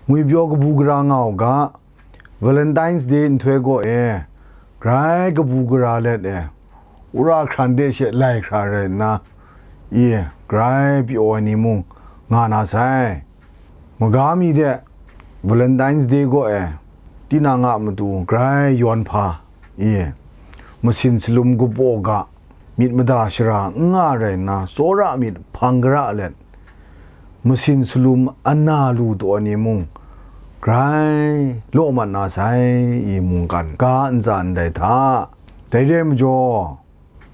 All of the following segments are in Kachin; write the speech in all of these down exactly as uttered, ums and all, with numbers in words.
ngwipyaw kabu gara nga u ga, Valentine's Day nhtoi gaw e, grai kabu gara let e, wora hkran de she lai hkra rai nna, i, grai pyaw ai ni mung nga na sai. Maga mi de, Valentine's Day gaw e, tinang a matu grai yawn hpa, i, masin salum kabaw ga, myit mada shara n nga rai nna, tsawra myit hpang gara let, masin salum ana lu taw ai ni mung, grai law mat na sai, i mungkan ga ntsa ndai hta. Dai re ai majaw,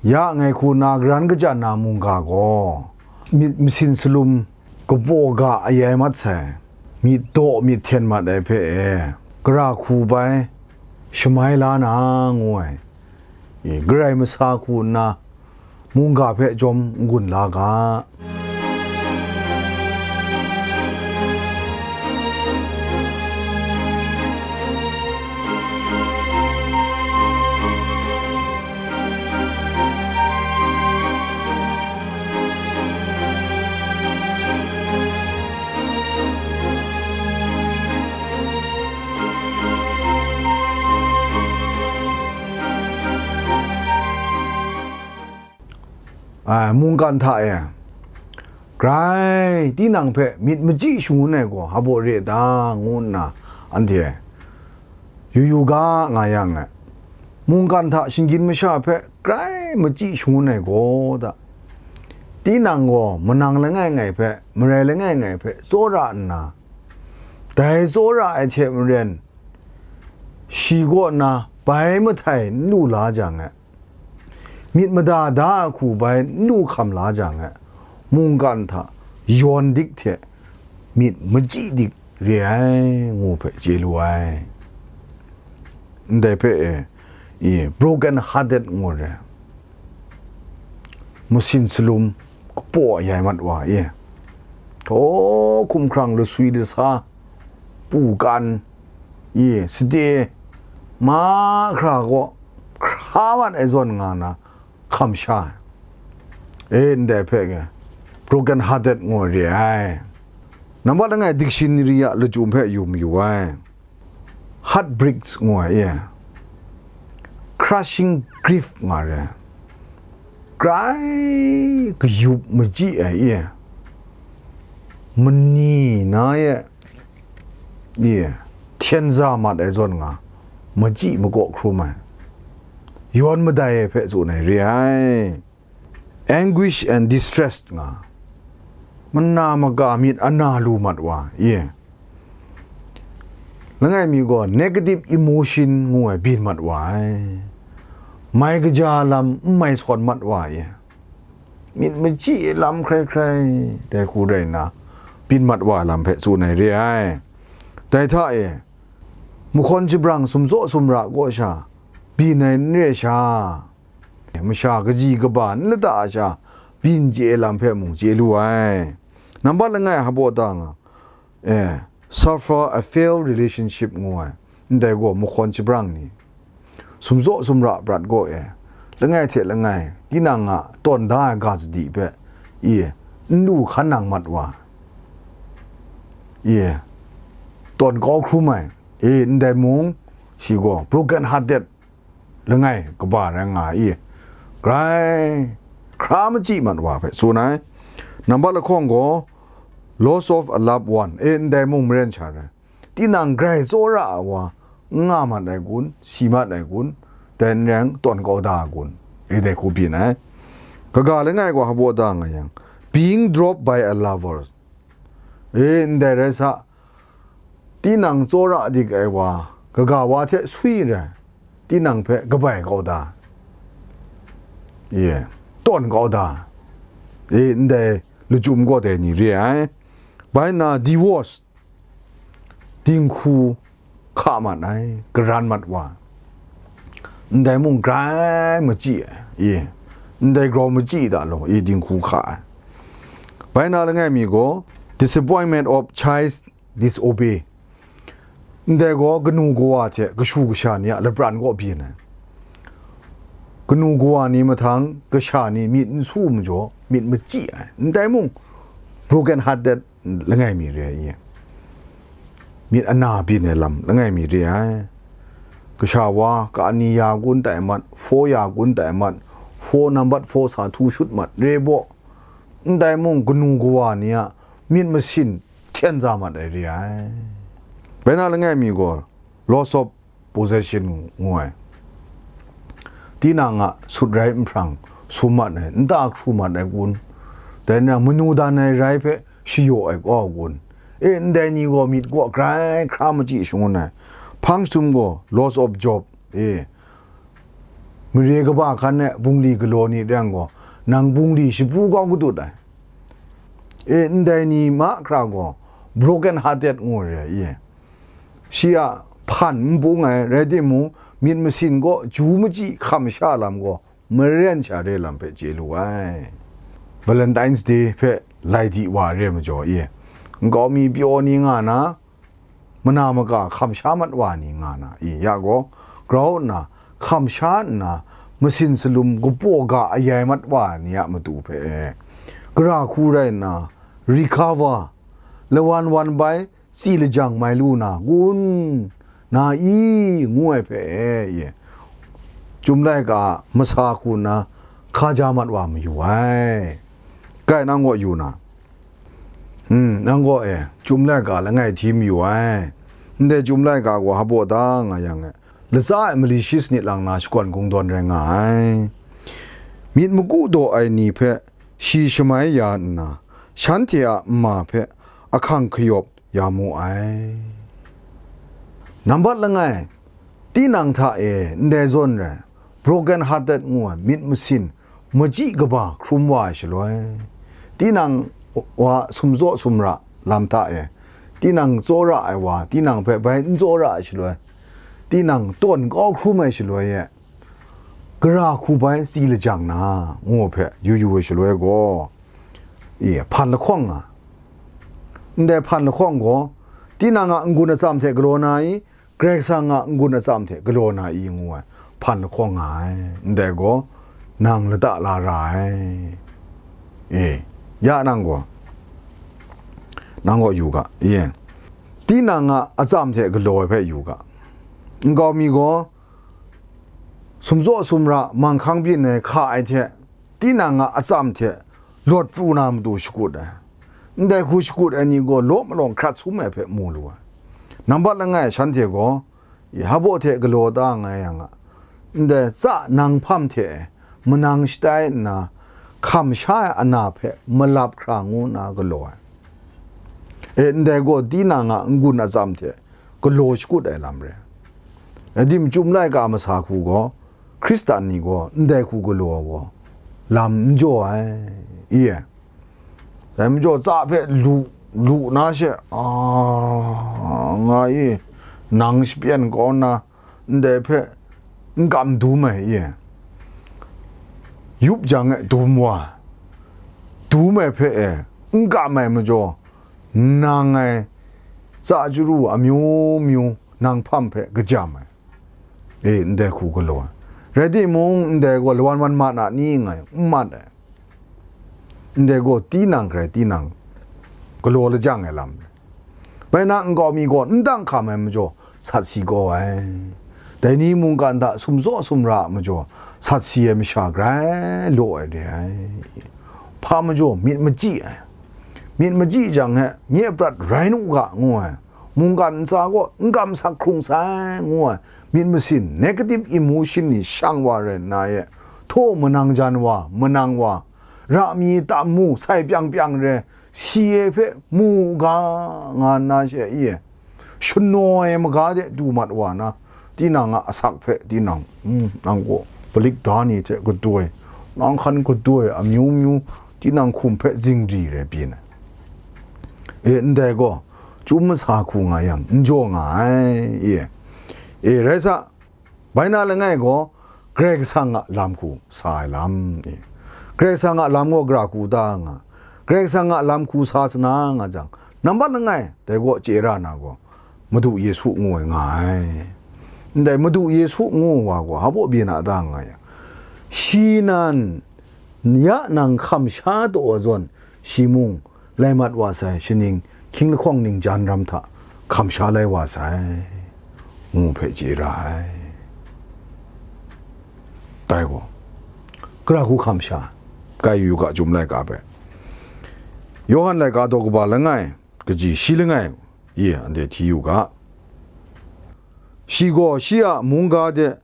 ya ngai hku na garan kajan na mungga gaw, myit masin salum kabaw ga ayai mat sai, myit daw myit hten mat ai hpe e, gara hku bai shamai la na ngu ai, i, garai masa hku nna mungga hpe jawm n-gun la ga. Ai, mungkan hta e, grai tinang hpe myit machyi shangun ai gaw hpa baw re ta, ngu nna anhte yu yu ga nga yang e, mungkan hta shinggyim masha hpe grai machyi shangun ai gaw ta, tinang gaw manang langai ngai hpe, marai langai ngai hpe tsawra nna, dai tsawra ai hte maren, shi kaw na bai mahtai n lu la jang e, myit mada da ai hku bai n lu hkam la jang e, mungkan hta yawn dik hte myit machyi dik re ai, ngu hpe chye lu ai. Ndai hpe e, i, broken hearted ngu re, masin salum kapaw ayai mat wa, i, htaw hkumhkrang laswi lasa, pu kan, i, sade, mahkra kaw hkra mat ai zawn nga na, hkam sha ai. E, ndai hpe ngai broken hearted ngu re ai. Nambat langai dictionary a lachyum hpe yu mayu ai. Heartbreaks ngu ai, e, crushing grief nga re. Grai kayup machyi ai, e, mani na e, e, hten za mat ai zawn nga, machyi makaw hkrum ai, yawn madai ai hpe tsun ai re ai. Anguish and distress nga, mana maga myit ana lu mat wa, e, langai mi gaw negative emotion ngu ai byin mat wa ai, mai kaja lam n mai sawn mat wa, e, myit machyi lam hkrai hkrai, dai hku rai nna, byin mat wa ai lam hpe tsun ai re ai. Dai hta e, mahkawn shabrang sumtsaw sumra kaw sha byin ai n re sha, masha kaji kaba n lata a sha byin chye ai lam hpe mung chye lu ai. Nambat langai hpaw ta nga, e, suffer a failed relationship ngu ai, ndai gaw mahkawn shabrang ni, sumtsaw sumra prat gaw e, langai hte langai tinang a tawn da ai ga sadi hpe, e, n lu hkan nang mat wa, e, tawn kau hkrum ai, e, ndai mung, shi gaw broken hearted langai kaba rai nga i, grai hkra machyi mat wa hpe tsun ai. Nambat lahkawng gaw, loss of a loved one, e, ndai mung maren sha rai, tinang grai tsawra ai wa n nga mat ai kun, si mat ai kun, dai n rai yang tawn kau da ai kun, e, dai hku byin ai. Kaga langai gaw hpaw ta nga yang, being dropped by a lover, e, ndai rai sa, tinang tsawra dik ai wa, kaga wa hte swi rai, tinang hpe kabai kau da, e, tawn kau da, e, ndai lachyum gaw dai ni re ai. Bai nna divorce, dinghku hka mat ai, karan mat wa, ndai mung grai machyi ai, e, ndai grau machyi da law, e, dinghku hka ai. Bai nna langai mi gaw, disappointment of child disobey. Ndai gaw kanu kawa hte kashu kasha ni a lapran kaw byin ai. Kanu kawa ni mahtang kasha ni myit n su majaw, myit machyi ai. Ndai mung, broken hearted langai mi re ai. myit ana byin ai lam langai mi re ai. Kasha wa, ka ani ya gun tai mat, four ya gun tai mat, four nambat four sa htu shut mat, re baw, ndai mung kanu kawa ni a myit masin hten za mat ai re ai. Bai na langai mi gaw, loss of possession ngu ai. Tinang a sut rai nhprang sum mat ai, nta hkru mat ai kun, dai na manu dan ai rai hpe shayaw ai kau kun, e, ndai ni gaw myit kaw grai hkra machyi shangun ai. Hpang sum gaw loss of job, e, mare kaba hkan e bungli galaw ni reng gaw, nang bungli shapu kau kadut ai. E, ndai ni mahkra gaw broken hearted ngu re ai, e. Shi a hpan n bung ai, rai timung, myit masin gaw ju machyi hkam sha lam gaw maren sha re lam hpe chye lu ai. Valentine's Day hpe lai di wa re majaw, e, nkau mi pyaw ni nga na, mana maka hkam sha mat wa ni nga na, e, ya gaw, grau nna hkam sha nna, masin salum kapaw ga ayai mat wa ni a matu hpe, e, gara hku rai nna, recover, lawan wan bai, tsi lajang mai lu na kun, na i, ngu ai hpe, e, Chyum laika a masa hku nna hka ja mat wa mayu ai. Kai, nang gaw yu na, hmm, nang gaw, e, Chyum laika langai hti mayu ai. Ndai Chyum laika gaw hpa baw da nga yang, e, latsa e mali shi sanit lang na shakawn kungdawn rai nga ai. Myit maku daw ai ni hpe shi shamai ya nna, shanhte a nma hpe ahkang hkayawp ya mu ai. Nambat langai, tinang hta e ndai zawn rai, broken hearted ngu ai myit masin, machyi kaba hkrum wa ai shaloi, tinang wa sumzaw sumra lam hta e, tinang tsawra ai wa, tinang hpe bai n tsawra ai shaloi, tinang tawn kau hkrum ai shaloi e, gara hku bai tsi lajang na, ngu hpe yu yu ai shaloi gaw, e, hpan lahkawng nga. Ndai hpan lahkawng gaw, tinang a n-gun atsam hte galaw na i, Karai Kasang a n-gun atsam hte galaw na i, ngu ai hpan lahkawng nga ai. Ndai gaw, nang lata la ra ai. E, ya nang gaw, nang gaw yu ga, e, tinang a atsam hte galaw ai hpe yu ga. Nkau mi gaw, sumzaw sumra manghkang byin ai hka ai hte, tinang a atsam hte lawt pru na matu shakut ai. Ndai hku shakut ai ni gaw law malawng hkrat sum ai hpe mu lu ai. Nambat langai shanhte gaw, e, hpa baw hte galaw da nga yang a, ndai tsa nang hpam hte manang shatai nna, hkam sha ai ana hpe malap hkra ngu nna galaw ai. E, ndai gaw tinang a n-gun atsam hte galaw shakut ai lam re. Rai tim, Chyum laika masa hku gaw, Hkristan ni gaw ndai hku galaw ai gaw, lam n jaw ai, i e. Dai majaw tsa hpe lu, lu na she, a, nga i, nang shapyan kau nna, ndai hpe n kam dum ai, i e. Yup jang e dum wa, dum ai hpe e, n kam ai majaw, nang ngai tsa chyaru amyu myu nang hpam hpe kajam ai. E, ndai hku galaw ai. Rai timung, ndai gaw lawan wan mat na ni ngai, n mat ai. Ndai gaw tinang hkrai tinang galaw lajang ai lam. Bai na nkau mi gaw n dang hkam ai majaw sat si kau ai. Dai ni mungkan hta sumzaw sumra a majaw sat si ai masha grai law ai re ai. Hpa majaw myit machyi ai. Myit machyi jang he, nye prat rai nu ga, ngu ai. Mungkan ntsa gaw n kam sak hkrung sai, ngu ai. Myit masin, negative emotion ni shang wa rai nna e, htaw manang jan wa, manang wa, ra mi tam mu, sai pyang pyang re, si e hpe mu u ga, nga nna she, i e, shanaw ai maga de du mat wa na, tinang a asak hpe tinang, mm, nang gaw palik da ni hte gadoi, nang hkan gadoi, amyu myu, tinang hkum hpe zingri rai byin ai. E, ndai gaw, chyum masa hku nga yang, n jaw nga ai, i e. E, rai sa, bai na langai gaw, Karai Kasang a lam hku sa ai lam, i e. Karai Kasang a lam gaw gara hku da nga, Karai Kasang a lam hku sa sana nga jang, nambat langai, dai gaw chye ra na gaw, Madu Yesu ngu ai nga ai. Ndai Madu Yesu ngu wa gaw, hpa baw byin a da nga yang, shi nan, ya nang hkam sha taw ai zawn, shi mung lai mat wa sai, shaning, hkying lahkawng ningjan ram hta, hkam sha lai wa sai, ngu hpe chye ra ai. Dai gaw, gara hku hkam sha, kai yu ga Chyum laika hpe, Yawhan laika daw kaba langai, kaji shi langai, ye anhte hti yu ga. Shi gaw shi a mungga de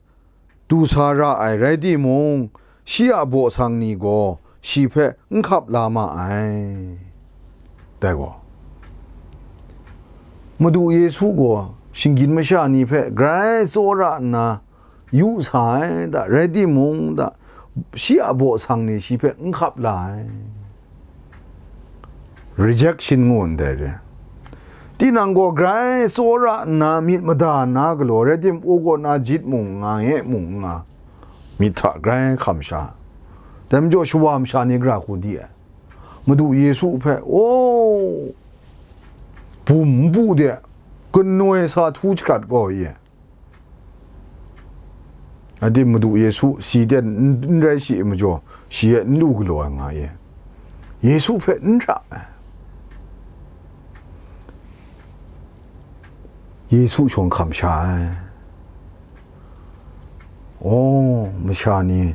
du sa ra ai rai timung, shi a baw sang ni gaw shi hpe n hkap la ma ai. Dai gaw, Madu Yesu gaw shinggyim masha ni hpe grai tsawra nna yu sa ai, da, rai timung, da, shi a baw sang ni shi hpe n hkap la ai. Rejection ngu ndai re. Tinang gaw grai tsawra nna myit mada nna galaw, rai timung, u kaw na jit mung n nga, nye mung n nga, myit hta grai hkam sha. Dai majaw, shawa masha ni gara hku di ai. Madu Yesu hpe, o, bum npu de, kanoi sa htu jahkrat gaw ye. Adi Madu Yesu si ten n, n rai shi ai majaw, shi e n lu galaw ai nga ye. Yesu hpe n ra ai. Yesu shawng hkam sha ai. O, masha ni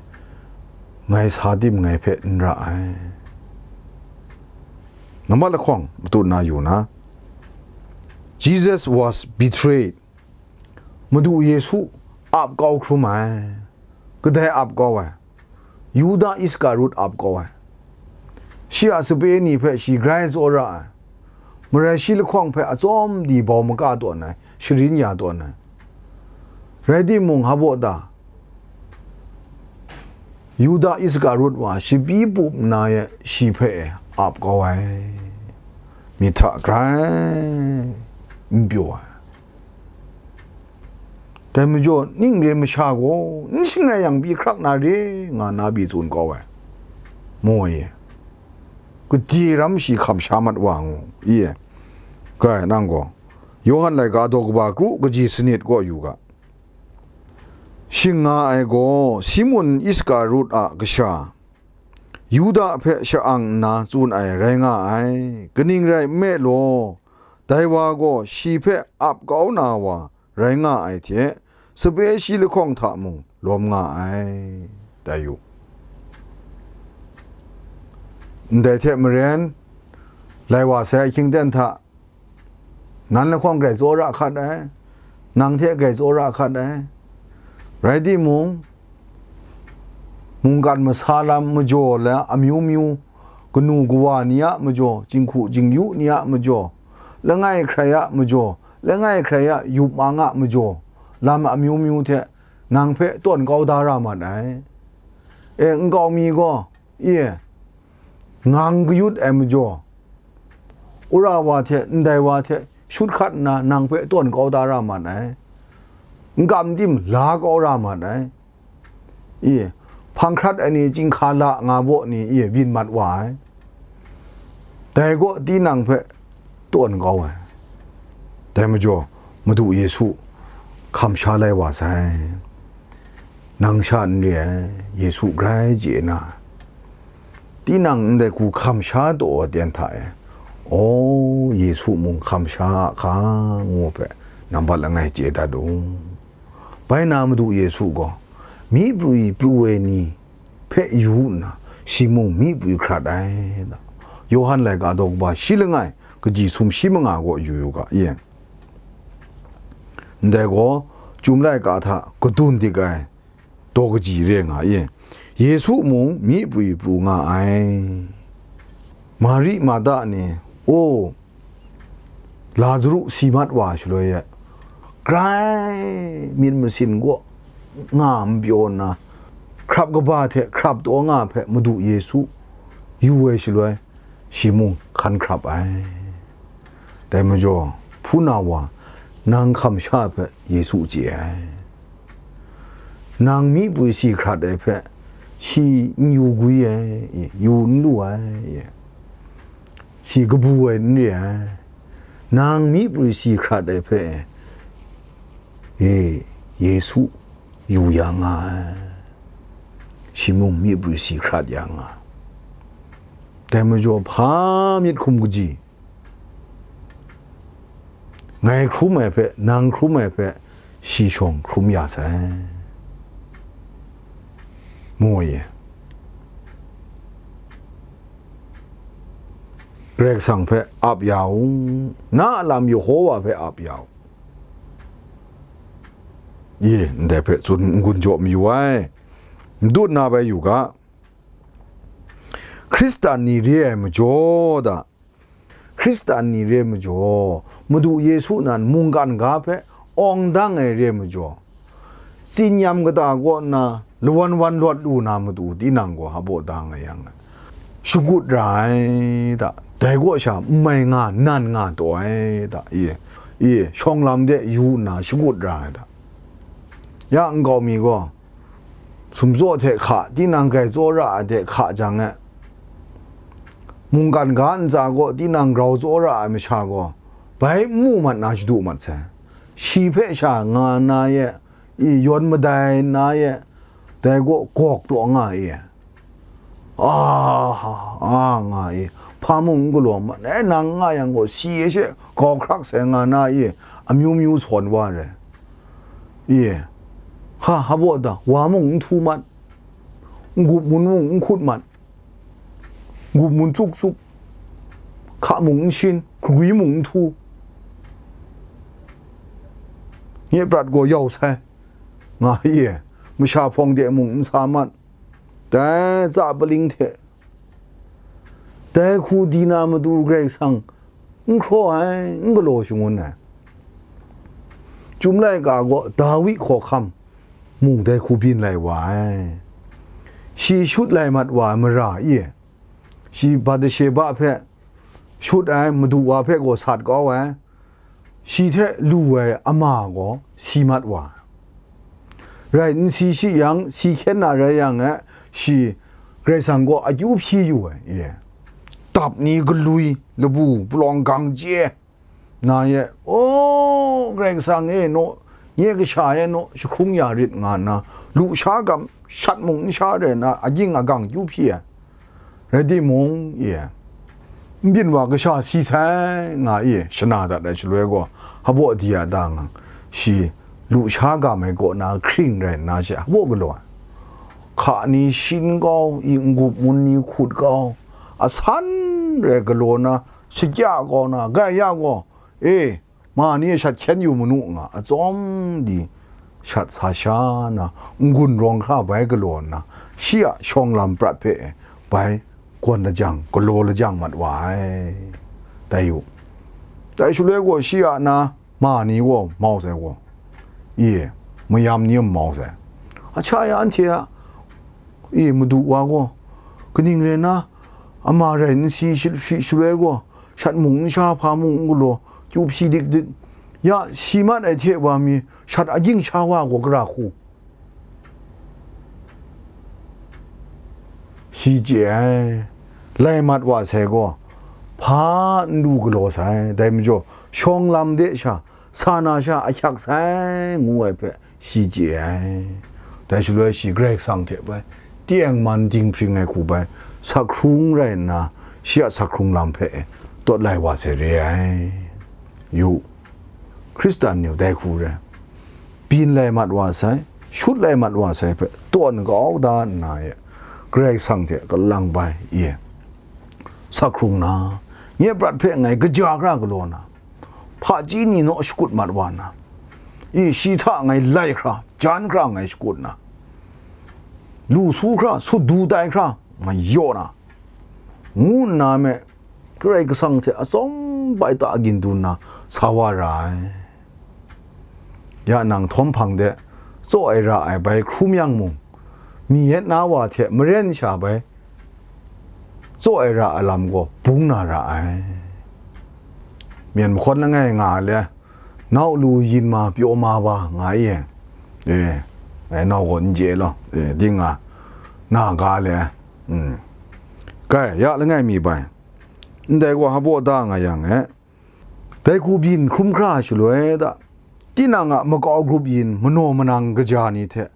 ngai sa tim ngai hpe n ra ai. Nambat lahkawng matut na yu na, Jesus was betrayed. Madu Yesu ap kau hkrum ai. Kadai ap kau ai? Yuda Iskarut ap kau ai. Shi a sape ni hpe shi grai tsawra ai. Marai shi lahkawng hpe atsawm di bau maka tawn ai, sharin ya tawn ai. Rai timung, hpa baw ta? Yuda Iskarut wa, shabi pup nna e shi hpe ap kau ai. Myit hta grai n pyaw ai. Dai majaw, ning re masha gaw n shangai yang pyi hkrak na re nga na pyi tsun kau ai. Mu ai ye. Gade ram shi hkam sha mat wa ngu, i e. Kai, nang gaw, Yawhan laika daw kaba kru kaji sanit kaw yu ga. Shing nga ai gaw, Simun Iskarut a kasha, Yuda hpe sha-ang nna tsun ai rai nga ai. Kaning rai nme law, dai wa gaw shi hpe ap kau na wa rai nga ai hte, sape shi lahkawng hta mung lawm nga ai. Dai yu. Ndai hte maren, lai wa sai ahkying ten hta, nan lahkawng grai tsawra hkat ai, nang hte grai tsawra hkat ai. Rai timung, mungkan masa lam majaw la amyu myu, kanu kawa ni a majaw, jinghku jingyu ni a majaw, langai hkrai a majaw, langai hkrai a yup mang a majaw, lam amyu myu hte nang hpe tawn kau da ra mat ai. E, nkau mi gaw, i e, ngang kayut ai majaw, wora wa hte ndai wa hte shut hkat nna nang hpe tawn kau da ra mat ai, n kam tim la kau ra mat ai, i, hpang hkrat ai ni, chyinghka la nga baw ni, i, byin mat wa ai, dai kaw tinang hpe tawn kau ai. Dai majaw, Madu Yesu hkam sha lai wa sai. Nang sha n re ai, Yesu grai chye na, tinang ndai hku hkam sha taw ai ten hta e, o, Yesu mung hkam sha a hka, ngu hpe nambat langai chye dat u. Bai na Madu Yesu gaw, myi prwi pru ai ni hpe yu nna, shi mung myi prwi hkrat ai. Yawhan laika daw kaba shi langai, kaji sum shi manga gaw yu yu ga, i. Ndai gaw, Chyum laika hta kadun dik ai daw kaji re nga i. Yesu mung myi prwi pru nga ai. Mari Marta ni, o, Lazaru si mat wa shaloi e, grai myit masin kaw nga n pyaw nna, hkrap kaba hte hkrap taw nga hpe Madu Yesu yu ai shaloi, shi mung hkan hkrap ai. Dai majaw, hpunau wa, nang hkam sha hpe Yesu chye ai. Nang myi prwi si hkrat ai hpe, shi n yu gwi ai, yu n lu ai, shi kabu ai n re ai. Nang myi prwi si hkrat ai hpe, e, Yesu yu ya nga ai. Shi mung myi prwi si hkrat ya nga ai. Dai majaw, hpa myit hkum kaji, ngai hkrum ai hpe, nang hkrum ai hpe, shi shawng hkrum ya sai, mu ai. Karai Kasang hpe ap ya u, na a lam Yehowa hpe ap ya u. Ye, ndai hpe tsun n-gun jaw mayu ai. N dut na bai yu ga, Hkristan ni re ai majaw da, Hkristan ni re ai majaw, Madu Yesu nan mungkan ga hpe awng dang ai re ai majaw, tsinyam kata kaw nna lawan wan lawt lu na matu tinang gaw hpaw da nga yang, shagut ra ai da, dai kaw sha n mai nga, nan nga taw ai da, i, i, shawng lam de yu nna shagut ra ai da. Ya nkau mi gaw, sumtsaw hte hka, tinang grai tsawra ai hte hka jang e, mungkan ga ntsa gaw tinang grau tsawra ai masha gaw, bai n mu mat na shadu mat sai. Shi hpe sha nga na ye, i yawn madai na ye, dai gaw gawk taw nga i, a, a nga i, hpa mung n galaw mat, e, nang nga yang gaw, si e she gau hkrak sai nga na i, amyu myu sawn wa re. I, ha, hpaw da, wa mung n htu mat, n-gup mun mung n hkut mat, n-gup mun tsuk tsuk, hka mung n shin, hkagwi mung n htu, nye prat gaw yau sai, nga i, masha hpawng de mung n sa mat, dai tsa paling hte, dai hku di na matu Karai Kasang n hkraw ai, n galaw shangun ai. Chyum laika gaw Dawi hkawhkam mung dai hku byin lai wa ai. Shi shut lai mat wa ai mara i, shi Bathsheba hpe shut ai, madu wa hpe gaw sat kau ai, shi hte lu ai ama gaw si mat wa ai. Rai n si shi yang, si hkyen na rai yang e, shi Karai Kasang gaw akyu hpyi yu ai, e, dap ni galwi, labu palawng gang chye na ye, o, Karai Kasang e, naw, nye kasha e naw, jahkrung ya rit nga nna, lusha gam shat mung n sha re na, agying agang kyu hpyi ai. Rai timung, i, n byin wa kasha si sai nga i, shana dat ai shaloi gaw, hpaw di a da ngang, shi lusha gam ai kaw na hkring rai nna she hpaw galaw ai. Hka ni shin kau, i, n-gup mun ni hkut kau, asan rai galaw na, shakya kau na, gaya gaw, e, ma ni e shat hkyen yu manu nga, atsawm di shat sa sha na, n-gun rawng hkra bai galaw nna, shi a shawng lam prat hpe bai gawn lajang, galaw lajang mat wa ai. Dai u, dai shaloi gaw shi a na ma ni gaw mau sai gaw, i, mayam ni a mau sai. Ahkya ya anhte a, i, madu wa gaw, kaning rai nna, ama rai n si shi, shi, shaloi gaw, shat mung n sha, hpa mung n galaw, kyu hpyi dik dik, ya si mat ai hte wa mi, shat agying sha wa gaw gara hku, shi chye ai. Lai mat wa sai gaw, hpa n lu galaw sai, dai majaw, shawng lam de sha, sa na sha ahkyak sai, ngu ai hpe, shi chye ai. Dai shaloi shi Karai Kasang hte bai tengman dinghpring ai hku bai, sakhkrung rai nna, shi a sakhkrung lam hpe tawt lai wa sai re ai. Yu, Hkristan ni dai hku re, byin lai mat wa sai, shut lai mat wa sai hpe tawn kau da nna e, Karai Kasang hte kalang bai e, sakhkrung na, nye prat hpe ngai kaja hkra galaw na, hpaji ni naw shakut mat wa na, i, shi hta ngai lai hkra, jan hkra ngai shakut na, lu su hkra, sut du tai hkra ngai yaw na, ngu nna me, Karai Kasang hte atsawm bai ta agin dun na sa wa ra ai. Ya nang htawm hpang de, tsaw ai ra ai bai hkrum yang mung, mi yet na wa hte maren sha bai tsaw ai ra ai lam gaw bung na ra ai. Myen mahkawn langai nga ai le, nau lu yin ma pyaw ma wa nga i, e, e, nau gaw n chye law, e, ding nga, na ga le, mm. Kai, ya langai mi bai, ndai gaw hpaw da nga yang e, dai hku byin hkrum hkra shaloi da, tinang a makau grup yin manaw manang kaja ni hte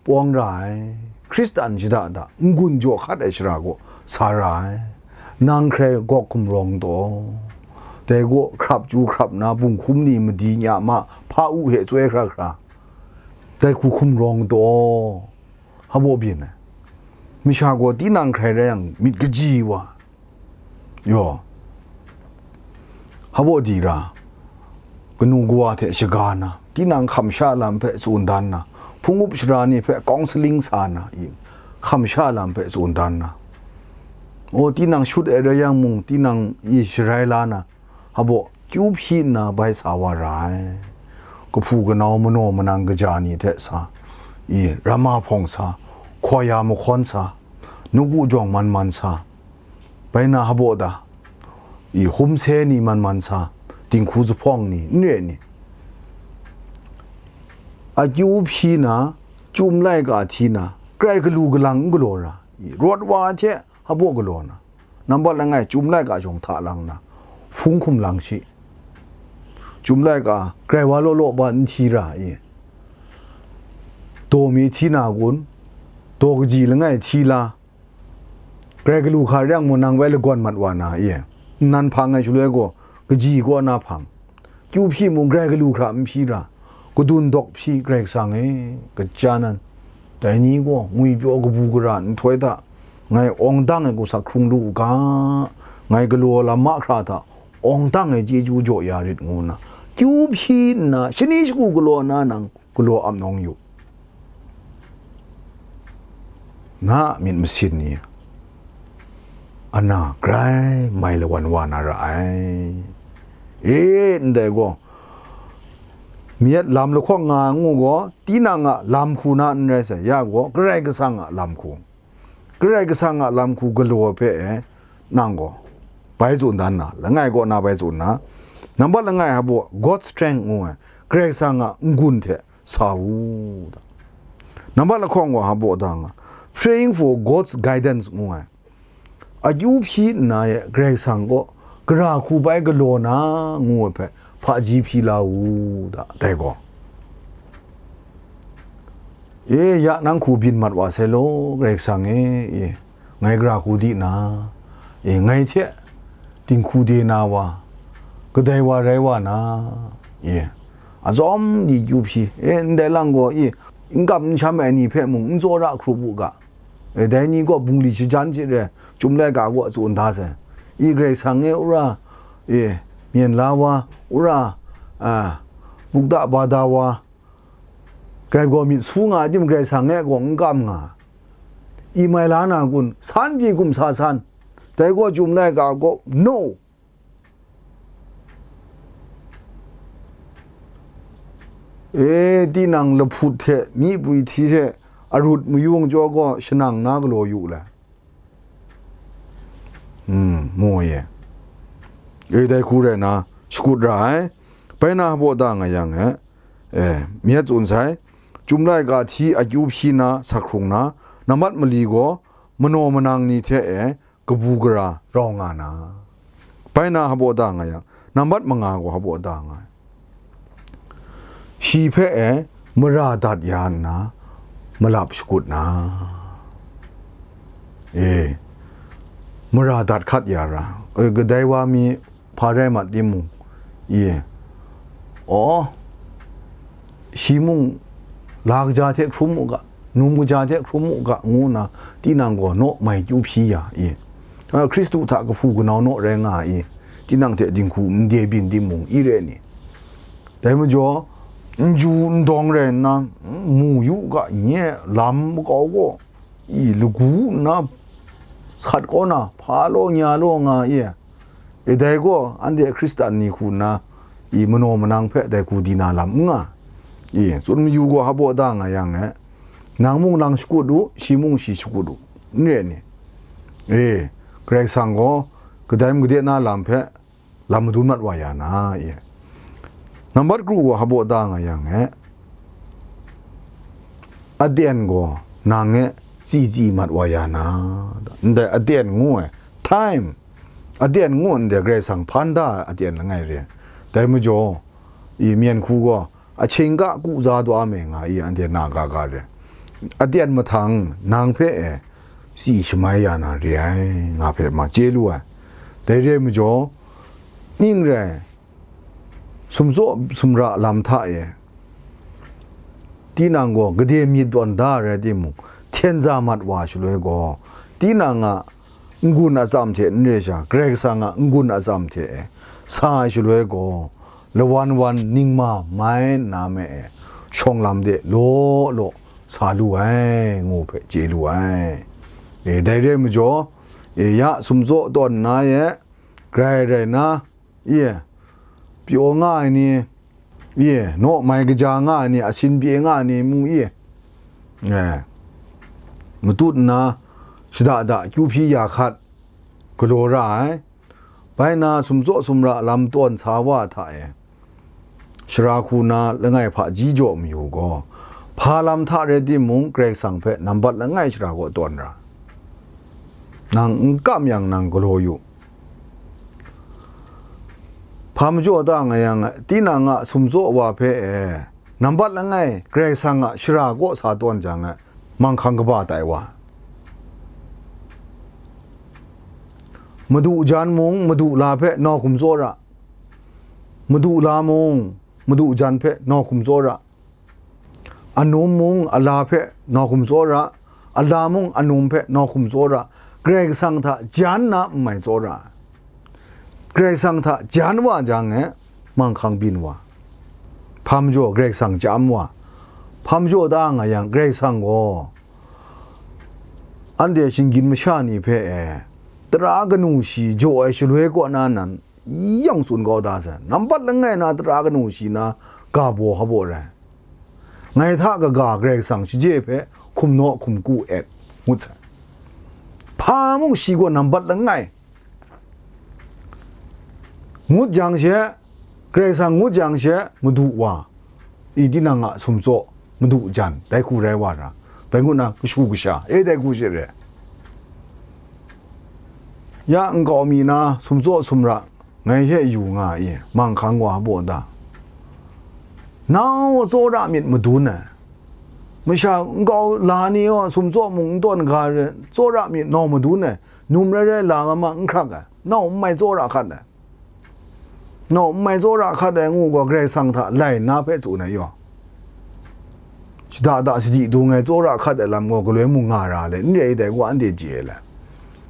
pawng ra ai, Hkristan shada da n-gun jaw hkat ai shara gaw sa ra ai, nang hkrai gawk hkum rawng taw, dai gaw hkrap chyu hkrap na, bunghkum ni madi nya ma, hpa u hte chyoi hkra hkra, dai hku hkum rawng taw, hpa baw byin ai. Masha gaw tinang hkrai rai yang, myit kaji wa, yaw, hpa baw di ra, kanu kawa hte shaga na, tinang hkam sha lam hpe tsun dan na, hpung up sara ni hpe counselling sa na, i, hkam sha lam hpe tsun dan na, o, tinang shut ai rai yang mung, tinang i sharai la na, hpa baw kyu hpyi nna bai sa wa ra ai. Kahpu kanau manaw manang kaja ni hte sa, i, rama hpawng sa, hkawya mahkawn sa, nawku jawng man man sa, bai na hpa baw ta, i, hum se ni man man sa, dinghku zuphpawng ni, n re ni, akyu hpyi na, chyum laika hti na, grai galu galang n galaw ra, i, rawt wa ai hte hpa baw galaw na, nambat langai, chyum laika jawng hta lang na, hpung hkum lang shi. Chyum laika grai wa law law ba n hti ra i, daw mi hti na kun, daw kaji langai hti la, grai galu hkra rai yang mung, nang bai lagawn mat wa na i, nnan hpang ai shaloi gaw, kaji kaw na hpang, kyu hpyi mung, grai galu hkra n hpyi ra, kadun dawk hpyi, Karai Kasang e, kaja nan, dai ni gaw ngwipyaw kabu gara nhtoi hta ngai awng dang ai hku sa hkrung lu u ga, ngai galaw lam mahkra hta awng dang ai chyeju jaw ya rit, ngu nna kyu hpyi nna, shani shagu galaw na nang galaw ap nawng yu. Na myit masin ni, ana grai mai lawan wa na ra ai. E, ndai gaw, myit lam lahkawng nga ngu gaw, tinang a lam hku na n rai sai, ya gaw, Karai Kasang a lam hku, Karai Kasang a lam hku galaw hpe e, nang gaw bai tsun dan na, langai kaw na bai tsun na, nambat langai hpa baw, God's strength ngu ai, Karai Kasang a n-gun hte sa u, da. Nambat lahkawng gaw hpa baw da nga, praying for God's guidance ngu ai, akyu hpyi nna e Karai Kasang kaw gara hku bai galaw na, ngu ai hpe hpaji hpyi la u, da, dai gaw. E, ya nang hku byin mat wa sai law, Karai Kasang e, e, ngai gara hku di na, e, ngai hte dinghku de na wa, kadai wa rai wa na, e, azawm di kyu hpyi, e, ndai lang gaw, e, n kam n sham ai ni hpe mung n tsawra hkrup u ga, e, dai ni gaw bungli shajan hte re, chyum laika gaw tsun da sai. I Karai Kasang e, wora, e, myen la wa, wora, a, bukda bada wa, grai gaw myit su nga ai tim Karai Kasang e gaw n kam nga, i mai la na kun, san pyi hkum sa san, dai gaw chyum laika gaw, no. E, tinang lahput hte myi pwi hti hte arut mayung jaw gaw shanang na galaw yu le. Hmm, mu e. E, dai hku rai na, shakut ra ai. Bai na hpa baw da nga yang e, e, myit tsun sai, chyum laika hti akyu hpyi na, sa hkrung na, nambat mali gaw manaw manang ni hte e, kabu gara rau nga na, bai na hpa baw da nga yang, nambat manga gaw hpa baw da nga ai. Shi hpe e mara dat ya nna, malap shakut na, e, mara dat hkat ya ra, e, kadai wa mi hpa rai mat timung, e, aw, shi mung la kaja hte hkrum u ga, num kaja hte hkrum u ga, ngu nna, tinang gaw naw mai kyu hpyi ya i, a, Hkristu hta kahpu kanau naw rai nga i, tinang hte dinghku n de byin timung, i re ni? Dai majaw, n ju n dawng rai nna, mu yu ga, nye lam makau gaw, i, lagu nna sat kau na, hpa law nya law nga i, e, dai gaw anhte Hkristan ni hku nna, i, manaw manang hpe dai hku di na lam n nga, i, tsun mayu gaw hpa baw da nga yang e, nang mung nang shakut u, shi mung shi shakut u, n re ni? E, Karai Kasang gaw kadai mung gade na lam hpe lam madun mat wa ya na, i. Nambat kru gaw hpa baw da nga yang e, aten gaw nang e tsi tsi mat wa ya na, ndai aten ngu ai, time, aten ngu ndai Karai Kasang hpan da ai aten langai re. Dai majaw, i, myen hku gaw, ahkying ga ku za daw a me nga i, anhte na ga ga re. Aten mahtang nang hpe e tsi shamai ya na re ai, nga hpe ma chye lu ai. Dai re ai majaw, Ning rai, sumtsaw sumra lam hta e, tinang gaw gade myit tawn da rai timung, hten za mat wa shaloi gaw, tinang a n-gun atsam hte n re sha, Karai Kasang a n-gun atsam hte e sa ai shaloi gaw, lawan wan ningma mai nna me e, shawng lam de law law sa lu ai, ngu hpe chye lu ai. E, dai re ai majaw, e, ya sumtsaw tawn nna e, grai rai nna, Ye, pyaw nga ai ni, ye, naw mai kaja nga ai ni, asin pye nga ai ni mung ye, e, matut nna, shada da kyu hpyi ya hkat galaw ra ai. Bai nna, sumtsaw sumra lam tawn sa wa hta e, shara hku na langai hpaji jaw mayu gaw, hpa lam hta rai timung, Karai Kasang hpe nambat langai shara kaw tawn ra. Nang n kam yang, nang galaw yu. Hpa majaw ta nga yang, tinang a sumtsaw wa hpe e, nambat langai Karai Kasang a shara kaw sa tawn jang e, manghkang kaba tai wa, madu jan mung, madu la hpe nawhkum tsawra, madu la mung, madu jan hpe nawhkum tsawra, anum mung ala hpe nawhkum tsawra, ala mung anum hpe nawhkum tsawra, Karai Kasang hta jan na n mai tsawra, Karai Kasang hta jan wa jang e, manghkang byin wa, hpa majaw Karai Kasang chyam wa, hpa majaw ta nga yang, Karai Kasang gaw anhte shinggyim masha ni hpe e, tara kanu shi jaw ai shaloi kaw na nan, yawng tsun kau da sai. Nambat langai na tara kanu shi na ga baw ha baw rai. Ngai hta kaga Karai Kasang shaje hpe hkum naw hkum ku et ngut sai. Hpa mung shi gaw nambat langai ngut jang she, Karai Kasang ngut jang she, madu wa, i tinang a sumtsaw, madu jan, dai hku rai wa ra, bai ngut na kashu kasha, e dai hku she re. Ya nkau mi na sumtsaw sumra ngai hte yu nga i, manghkang wa baw da. Nau tsawra myit madun ai. Masha nkau la ni gaw sumtsaw mung n tawn ga re, tsawra myit nau madun ai. Num rai rai la ma ma n hkrak ai. Nau n mai tsawra hkat ai. Nau n mai tsawra hkat ai ngu gaw Karai Kasang hta lai nna hpe tsun ai yaw. Shada da sadi dung ai tsawra hkat ai lam gaw galoi mung nga ra le, n re ai dai gaw anhte chye ai le.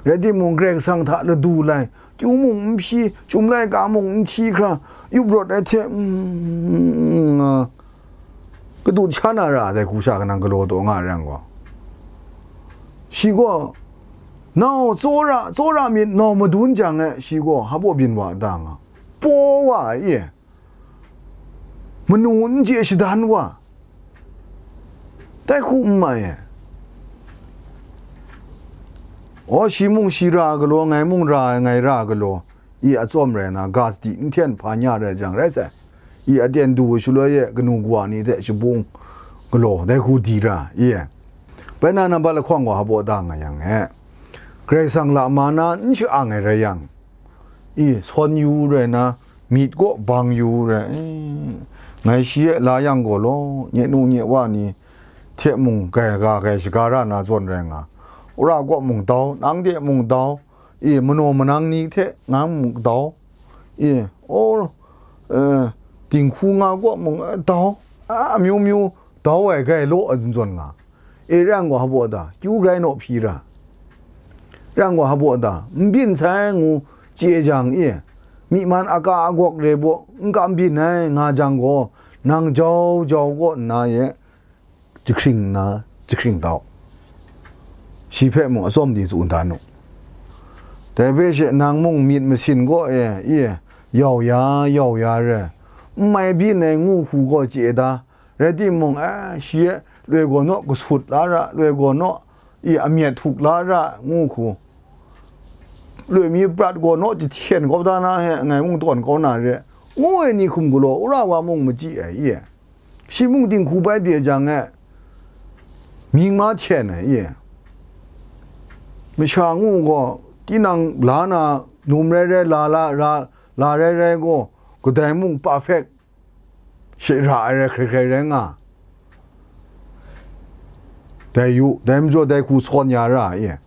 Rai timung, Karai Kasang hta ladu lai, kyu mung n hpyi, chyum laika mung n hti hkra, yup rawt ai hte, mm, nga, kadut sha na ra ai dai hku sha kanang galaw taw nga ai rai yang gaw, shi gaw, nau tsawra, tsawra myit nau madun jang e, shi gaw hpa baw byin wa da nga, paw wa ai e, manu n chye shadan wa, dai hku n mai e. Aw, shi mung shi ra galaw, ngai mung ra ai, ngai ra galaw, i atsawm rai na, ga sadi n hten hpa nya rai jang rai sai. I aten du shaloi e kanu kawa ni hte shabung galaw, dai hku di ra, i. Bai na nambat lahkawng wa hpa baw da nga yang e, Karai Kasang la ma na n sha-ang ai rai yang, i, sawn yu rai na, myit kaw bang yu rai, i, ngai shi e la yang gaw law, nye nu nye wa ni hte mung gai ga gai shaga ra na zawn rai nga, wora kaw mung dau, nang de mung dau, i, manaw manang ni hte nang mung dau, i, aw, e, dinghku nga kaw mung, e, dau, a, amyu myu dau ai gai law ai zawn nga. E, rai yang gaw hpa baw da, kyu grai naw hpyi ra. Rai yang gaw hpa baw da, n byin sai ngu chye jang e, myi man aga agawk re baw, n kam byin ai nga jang gaw, nang jau jau kaw nna ye, jahkring nna, jahkring dau. Shi hpe mung atsawm di tsun dan u. Dai hpe she nang mung myit masin kaw e, e, yau ya, yau ya re, n mai byin ai ngu hku gaw chye da, rai timung, e, shi e loi gaw naw kasut la ra, loi gaw naw i amyat htuk la ra ngu hku, loi mi prat gaw naw jahten kau da na he, ngai mung tawn kau na re, ngu ai ni hkum galaw, wora wa mung machyi ai, i e. Shi mung dinghku bai de jang e, mying ma hten ai, i e. Masha ngu gaw, tinang la na, num rai rai, la la, ra, la rai rai gaw, kadai mung perfect, shara ai rai hkrai hkrai rai nga. Dai yu, dai majaw dai hku sawn ya ra, i.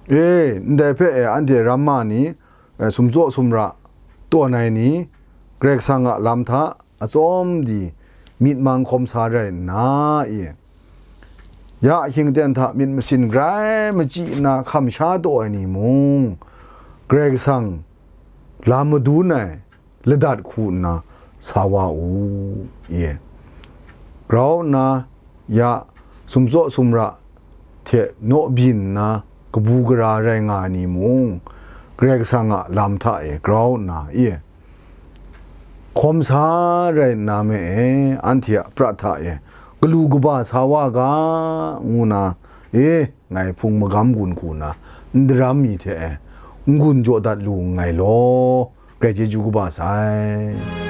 E, ndai hpe e, anhte ramma ni, e, sumtsaw sumra, tawn ai ni, Karai Kasang a lam hta atsawm di myit mang hkawm sa rai nna, i, ya hkying ten hta myit masin grai machyi nna hkam sha taw ai ni mung, Karai Kasang lam madun ai ladat hku nna sa wa u, i, grau nna ya sumtsaw sumra hte naw byin nna kabu gara rai nga ai ni mung, Karai Kasang a lam hta e grau nna, i, hkawm sa rai nna me e, anhte a prat hta e galu kaba sa wa ga, ngu na, e, ngai hpung magam gun hku na n daram mi hte e n-gun jaw dat lu nngai law, grai chyeju kaba sai.